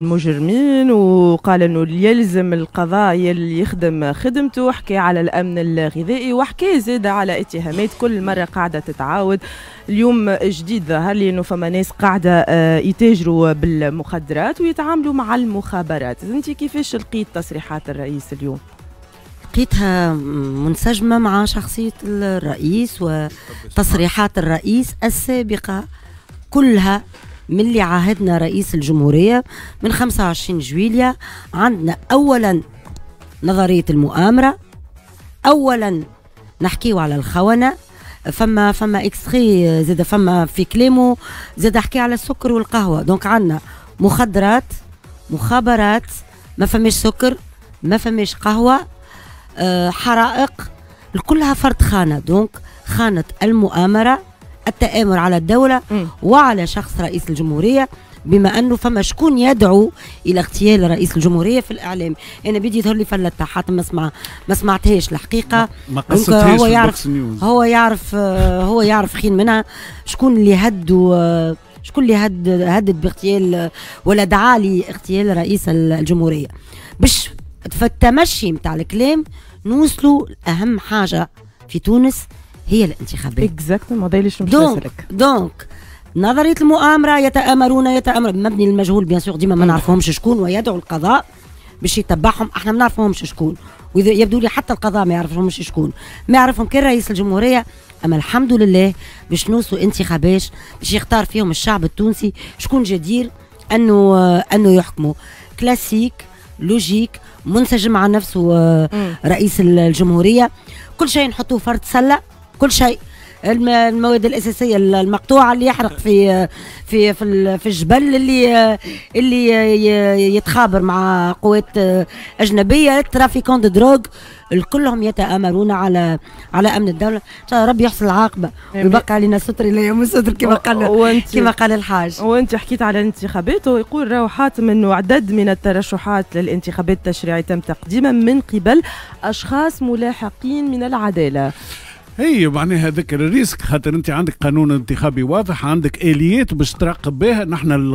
المجرمين، وقال انه يلزم القضاء يلي يخدم خدمته. حكى على الامن الغذائي وحكى زاد على اتهامات كل مرة قاعدة تتعاود. اليوم جديد ظهر لي انه فما ناس قاعدة يتاجروا بالمخدرات ويتعاملوا مع المخابرات. انت كيفاش لقيت تصريحات الرئيس اليوم؟ لقيتها منسجمه مع شخصية الرئيس وتصريحات الرئيس السابقة كلها من اللي عاهدنا رئيس الجمهورية من 25 جويليا. عندنا أولا نظرية المؤامرة، أولا نحكيو على الخونة، فما extrait زاد فما في كلامه زاد حكي على السكر والقهوة. donc عندنا مخدرات، مخابرات، ما فماش سكر، ما فماش قهوة، حرائق، كلها فرد خانة. donc خانة المؤامرة، التآمر على الدولة وعلى شخص رئيس الجمهورية، بما أنه فما شكون يدعو إلى اغتيال رئيس الجمهورية في الإعلام. أنا بدي يظهر لي فلتها حتى ما سمعتهاش الحقيقة. ما قصتهاش. هو يعرف، هو يعرف، هو يعرف خير منها شكون اللي هدوا، شكون اللي هدد باغتيال ولا دعا لاغتيال رئيس الجمهورية. باش في التمشي نتاع الكلام نوصلوا أهم حاجة في تونس هي الانتخابات. exactement، هذا اللي donc donc نظرية المؤامره، يتامرون، يتامر مبني للمجهول bien sûr، ديما ما نعرفهمش شكون، ويدعو القضاء باش يتبعهم. احنا ما نعرفهمش شكون، واذا يبدو لي حتى القضاء ما يعرفهمش شكون، ما يعرفهم كان رئيس الجمهوريه. اما الحمد لله باش نوصلوا انتخابات باش يختار فيهم الشعب التونسي شكون جدير انه يحكموا. classique، logique، منسجم مع نفسه رئيس الجمهوريه. كل شيء نحطوه فرد سله، كل شيء، المواد الاساسية المقطوعه، اللي يحرق في الجبل، اللي يتخابر مع قوات اجنبيه، trafiquants de drogue، كلهم يتآمرون على امن الدوله. ان شاء الله ربي يحسن العاقبة ويبقى علينا ستر الى يوم الستر كما قال الحاج. وانت حكيت على الانتخابات، ويقول راهو حاتم انه عدد من الترشحات للانتخابات التشريعية تم تقديمها من قبل اشخاص ملاحقين من العداله. هي معناها هذاك ال risque، خاطر انت عندك قانون انتخابي واضح، عندك اليات باش تراقب بها. نحن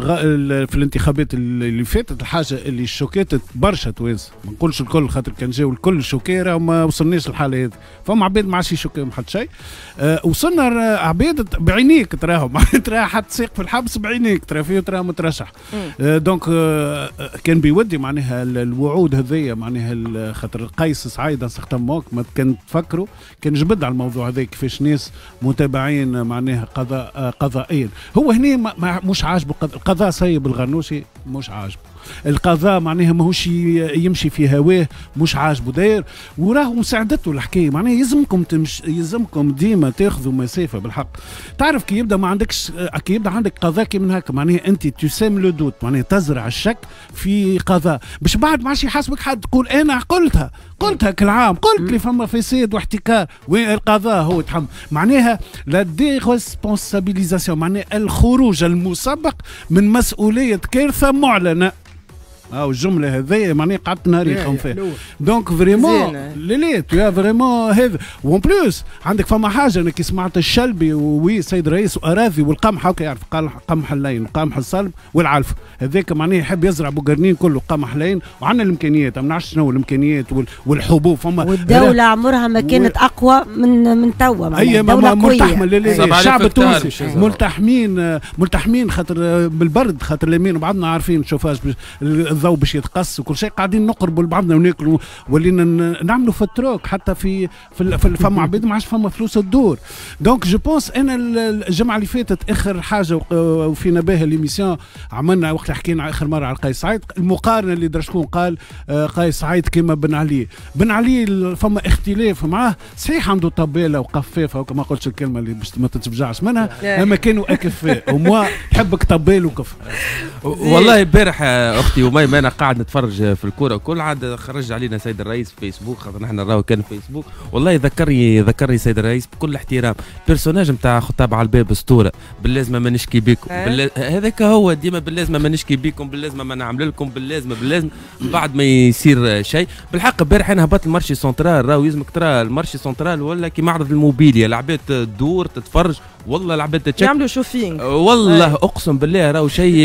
في الانتخابات اللي فاتت، الحاجة اللي شوكات برشا توانسه، ما نقولش الكل، خاطر كان جاو الكل choqués ما وصلناش للحالة هذه. فما عباد ما عادش يشوكيهم حتى شيء. وصلنا عباد بعينيك تراهم، تراه حط ساق في الحبس بعينيك ترى فيه، تراه مترشح. Donc كان بيودي معناها الوعود هذيا، معناها خاطر قيس سعيد certain ما كان تفكروا كان جبد على الموضوع هذا، كيفاش ناس متابعين معناها قضاء قضائيا. هو هنا مش عاجبه القضاء، سيب الغنوشي مش عاجبه القضاء، معناها ماهوش يمشي في هواه، مش عاجبه، داير وراه مساعدته الحكايه. معناها يلزمكم ديما تاخذوا مسافة بالحق. تعرف كي يبدا ما عندكش، كي يبدا عندك قضاء كي من هكا، معناها انت tu sèmes le doute، معناها تزرع الشك في قضاء باش بعد ما عادش يحاسبك حد، تقول انا قلتها، قلتها كل عام، قلت لي فما فساد واحتكار، وين القضاء؟ هو يتحمل. معناها la déresponsabilisation، معناها الخروج المسبق من مسؤولية كارثة معلنه. او الجملة هذيا معناها قعدت نهار نخمم فيها. donc vraiment لا لا تو vraiment هذا. و en plus عندك فما حاجه، انا كي سمعت الشلبي oui سيد الرئيس واراضي والقمح، هكا يعرف، قال قمح اللين وقمح الصلب والعلف. هذاك معناه يحب يزرع بوقرنين كله قمح لين، وعندنا الامكانيات، ما نعرفش شنو الامكانيات والحبوب فما. والدولة عمرها ما كانت اقوى من توا. اي ملتحمه، الشعب التونسي ملتحمين ملتحمين، خاطر بالبرد، خاطر اليمين وبعضنا عارفين شوفاج الضوء باش يتقص وكل شيء. قاعدين نقربوا لبعضنا وناكلوا، ولينا نعملوا في ال troc، حتى في فما عباد ما عادش فما فلوس تدور. donc je pense انا الجمعة اللي فاتت اخر حاجة وفينا بها l'émission عملنا وقت حكينا اخر مرة على قيس سعيد، المقارنة اللي درا شكون قال قيس سعيد كما بن علي. بن علي فما اختلاف معاه صحيح، عنده طباله وقفافه، وكما قلتش الكلمة اللي باش ما تتفجعش منها، اما كانوا اكفاء وما تحبك طبال وكف. والله امبارح اختي وميمه انا قاعد نتفرج في الكورة وكل عاد خرج علينا سيد الرئيس في فيسبوك، خاطر نحن نراو كان في فيسبوك. والله ذكرني سيد الرئيس بكل احترام personnage نتاع خطاب على الباب اسطوره، باللازمه ما نشكي بكم. هذاك هو ديما باللازمه ما نشكي بكم، باللازمه ما نعمل لكم، باللازمه باللازمه، بعد ما يصير شيء. بالحق امبارح انا هبطت ال marché central، راهو يلزمك ترى ال marché central ولا كي معرض الموبيليا، العباد تدور تتفرج. والله العباد تشك يعملوا shopping. والله اقسم بالله راهو شيء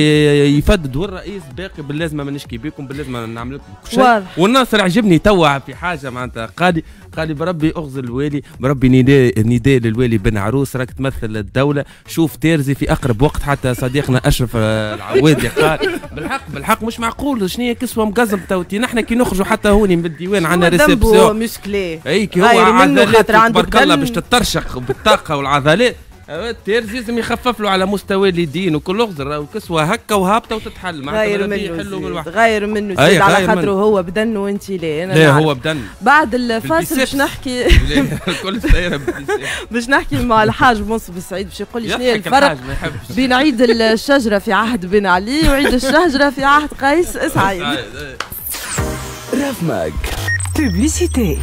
يفدد، والرئيس باقي باللازمه ما نشكي بكم، باللازمه نعمل لكم شيء. والناصر عجبني توا في حاجة معناتها، قال لي بربي اغزل الوالي، بربي نداء للوالي بن عروس، راك تمثل الدولة، شوف تيرزي في اقرب وقت. حتى صديقنا اشرف العوادي قال بالحق مش معقول، شنو هي كسوه مقزم توتي، نحن كي نخرجوا حتى هوني من الديوان عندنا réception musclé، اي كي هو عضلات تبارك الله باش تترشق بالطاقة والعضلات، التيرزي لازم يخفف له على مستوى اليدين وكل اغزر وكسوه هكا وهابطه وتتحل، غير منه غير منه سيد على خاطره هو بدن وانت لا. انا لا هو بدن. بعد الفاصل باش نحكي كل سيره باش نحكي مع الحاج منصف السعيد باش يقول لي شنو هي الفرق بين عيد الشجرة في عهد بن علي وعيد الشجرة في عهد قيس سعيد. راف ماك publicité.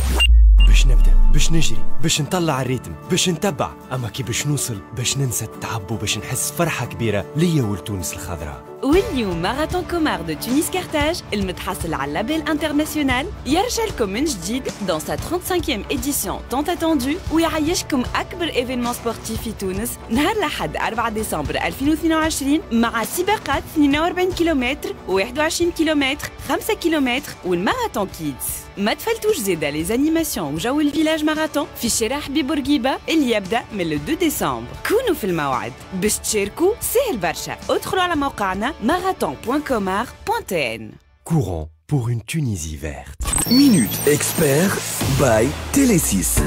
باش نبدا، باش نجري، باش نطلع ال rythme، باش نتبع، اما كي باش نوصل باش ننسى التعب وباش نحس فرحه كبيرة ليا ولتونس الخضراء. واليوم marathon Comar de Tunis Carthage المتحصل على label international يرجع لكم من جديد dans sa 35e édition tant attendue، ويعيشكم اكبر événement sportif في تونس نهار الاحد 4 ديسمبر 2022 مع سباقات 42 كيلومتر، 21 كيلومتر، 5 كيلومتر وال marathon kids. ما تفلتوش زيدا les animations وجو ال village marathon في شارع حبيب بورقيبة اللي يبدا من 2 ديسمبر. كونوا في الموعد باش تشاركوا، سهل برشا، ادخلوا على موقعنا marathon.comar.tn. Courant pour une Tunisie verte. Minute Expert by Télé 6.